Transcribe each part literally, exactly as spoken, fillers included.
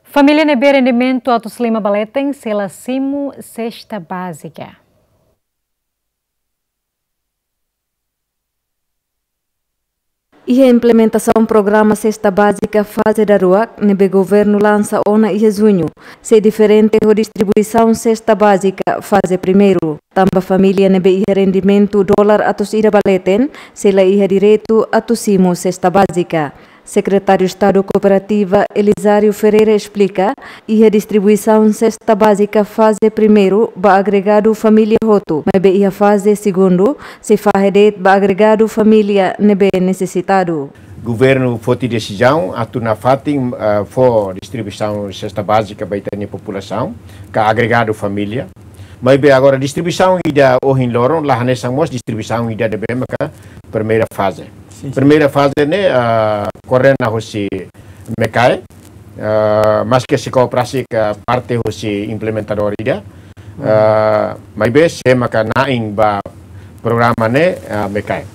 Família ne'ebé rendimentu atus lima ba leten sei la simu sesta bázika. Iha implementasaun programa sesta bázika faze daruak ne'ebé governu lansa ona iha juñu, sei diferente ho distribuisaun sesta bázika faze primeiru. Tanba família ne'ebé iha rendimentu dolar atus ida ba leten, sei la iha direitu atu simu sesta bázika. Sekretáriu Estadu Kooperativa Elisário Ferreira esplika, iha distribuisaun sesta bázika faze primeiru ba agregadu família hotu, maibé iha faze segundu sei fahe de'it ba agregadu família ne'ebé nesesitadu. Governu foti desizaun atu nafatin, ah, fó distribuisaun sesta bázika ba ita-nia populasaun, ka agregadu família. Maibé agora distribuisaun ida ohin loron la hanesan mós distribuisaun ida ne'ebé maka primeira faze. Sin, sin. Primeira faze ne'e, ah, koordena husi MECAE, ah, maske sei kooperasaun ho parte husi implementadór ida, ah, maibé sé maka na'in ba programa ne'e, ah, MECAE.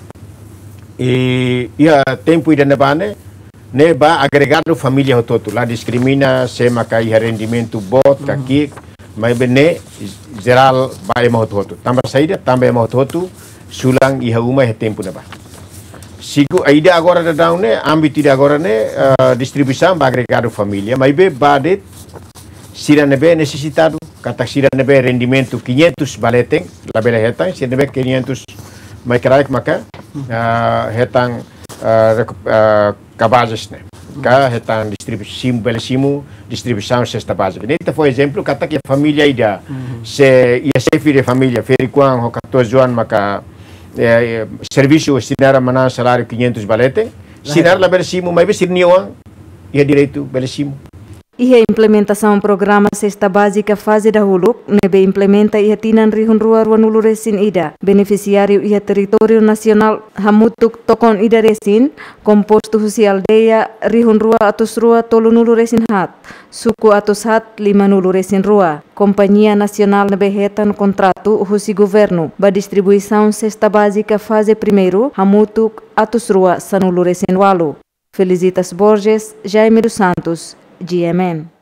I iha tempu ida-ne'ebá ne'e, ne'e ba agregadu família hotu-hotu, la diskrimina sé maka iha rendimentu boot ka ki'ik, maibé ne'e jerál ba ema hotu-hotu. Tanba saida? Tanba ema hotu-hotu sulan iha uma iha tempu ne'ebá. Siku ida agora daudaun ne'e, ámbitu ida agora ne'e, eh, distribuisaun ba agregadu família, maibé ba de'it sira ne'ebé nesesitadu, katak sira ne'ebé rendimentu quinhentos ba leten, labele hetan, sira ne'ebé quinhentos mai kraik maka, eh, hetan, eh, reku-, eh, kabazes ne'e. Ka hetan distribuisaun, bele simu distribuisaun sesta bázika. Ne'e ita fó ezemplu, katak iha família ida, se iha xefe de família, ferik-oan ho katorze oan maka, eh, eh, servisu sira-nia manán saláriu quinhentos ba leten, sira labele simu, maibé sira-nia oan iha direitu bele simu. Iha implementasaun programa sesta bázika faze dahuluk, ne'ebé implementa iha tinan rihun rua ruanulu resin ida, benefisiáriu iha territóriu nasionál hamutuk tokon ida resin, kompostu husi aldeia rihun rua atus rua tolunulu resin haat, suku atus haat limanulu resin rua. Kompañia nasionál ne'ebé hetan kontratu husi governu ba distribuisaun sesta bázika faze primeiru hamutuk atus rua sanulu resin ualu. Felicitas Borges, Jaime dos Santos, G M N.